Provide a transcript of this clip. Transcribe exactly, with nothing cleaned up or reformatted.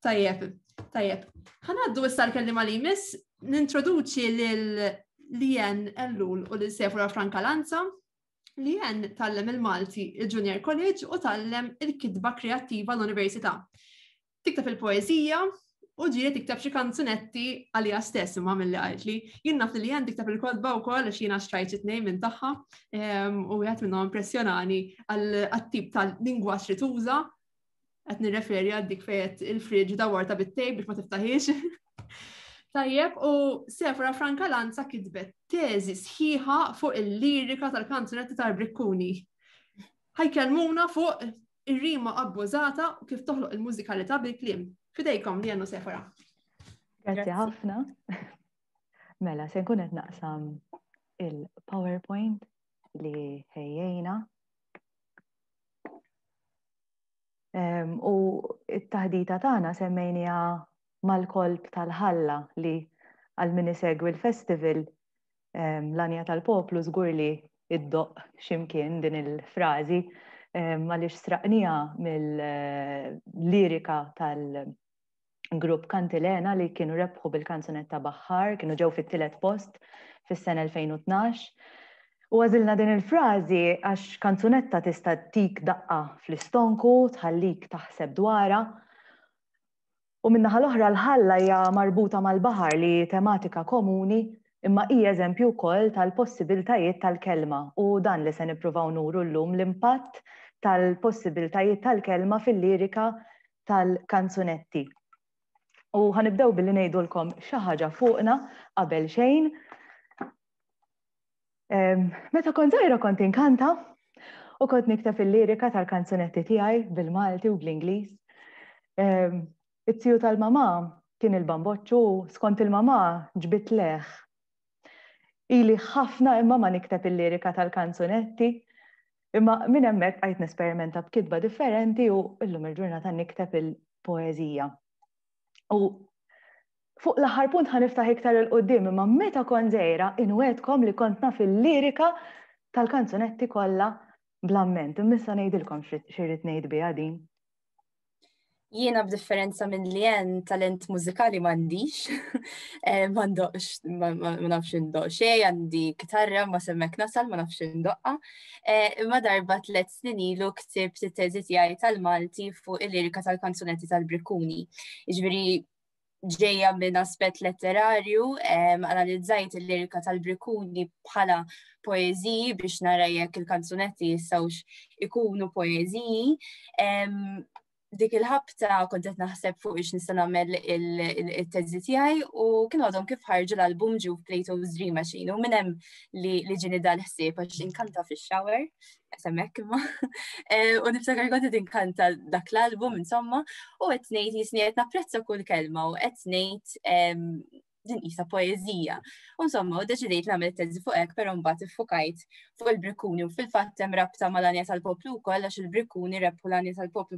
Tajjeb, tajjeb. Ħa ngħaddu issa l-kellima li jmiss, nintroduċi lil Leanne Ellul u lil Sefora Francalanza. Leanne tgħallem il-Malti il-Junior College u tgħallem il-kitba kreattiva l-Università. Tikteb il-poezija u ġieli tikteb xi kanzunetti għalija stess, imma milli qaltli. Jien naf li Leanne tikteb il-kotba wkoll, għax jiena xtrajt xi tnejn minn tagħha u wieħed minnhom impressjonani għat-tip tal-lingwaġġ li tuża. Qed nirreferi għal dik fejn il-fridge dawwartha bit-tejp biex ma tiftaħiex. Tajjeb, u Sefora Francalanza kitbet teżi sħiħa fuq il-lirika tal-kanzunetti tal-Brikkuni. Ħa jkellmuna fuq ir-rima abbużata u kif toħloq il-mużikalità bil-kliem. F'idejkom, Leanne u Sefora. Grazzi ħafna. Mela, se nkun qed naqsam il-PowerPoint li ħejjejna. U it-taħdita tagħna semmejniha "Mal-Kolp tal-Ħalla", li għal min isegwi l-festival l-Għanja tal-Poplu żgur li iddoqq x'imkien din il-frażi, għaliex sraqnieha mill-lirika tal-grupp Kantilena li kienu rebħu bil-kanzunetta "Baħħar", kienu ġew fit-tielet post fis-sena elfejn u tnax. U għażilna din il-frażi għax kanzunetta tista' ttik daqqa fl-istonku, tħallik taħseb dwarha. U min-naħa l-oħra, l-ħalla hija marbuta mal-baħar, li tematika komuni, imma hija eżempju wkoll tal-possibiltajiet tal-kelma, u dan li se nippruvaw nuru llum, l-impatt tal-possibiltajiet tal-kelma fil-lirika tal-kanzunetti. U ħa nibdew billi ngħidulkom xi ħaġa fuqna qabel xejn. Meta kont żgħira kont inkanta u kont nikteb il-lirika tal-kanzunetti tiegħi bil-Malti u bl-Ingliż. It-tiju tal-mama kien il-bamboċċu, skont il-mama ġbidt leħ. Ili ħafna imma ma nikteb il-lirika tal-kanzunetti, imma minn hemmhekk bqajt nesperimenta b'kitba differenti u illum il-ġurnata nikteb il-poeżija. U fuq l-aħħar punt ħa niftaħ iktar 'il quddiem, imma meta kont żgħira inwegħedkom li kont naf il-lirika tal-kanzunetti kollha bl-amment. Imma issa ngħidilkom x'irrid ngħid biha din. Jiena, b'differenza minn Leanne, talent mużikali m'għandix. Eh, ma ndoqqx, ma nafx indoqq xejn, għandi kitarra ma s'hemmhekk nasal, ma nafx indoqqha. Eh, imma darba tliet snin ilu ktibt it-teżi tiegħi tal-Malti fuq il-lirika tal-kanzunetti tal-Brikkuni. Jiġifieri ġejja minn aspett letterarju, analizzajt il-lirika tal-Brikkuni bħala poeżiji biex nara jekk il-kanzunetti jistgħux ikunu poeżiji. Dik il-ħabta kont qed naħseb fuq ix nista' nagħmel il-teżi tiegħi u kienu għadhom kif ħarġu l-album Ġuf Plato's Dream Machine u minn hemm li ġieni dal-ħsieb, għax inkanta fix-shower, s'hemmhekk imma. Eh, u niftakar kont qed inkanta dak l-album insomma u qed ngħid jisni qed napprezza kull kelma u qed ngħid din qisha poeżija. U insomma, u deċidejt nagħmel teżi fuq hekk, però mbagħad iffukajt fuq il-Brikkuni u fil-fatt hemm rabta mal-Għanja tal-Poplu wkoll, għax il-Brikkuni rebħu l-Għanja tal-Poplu.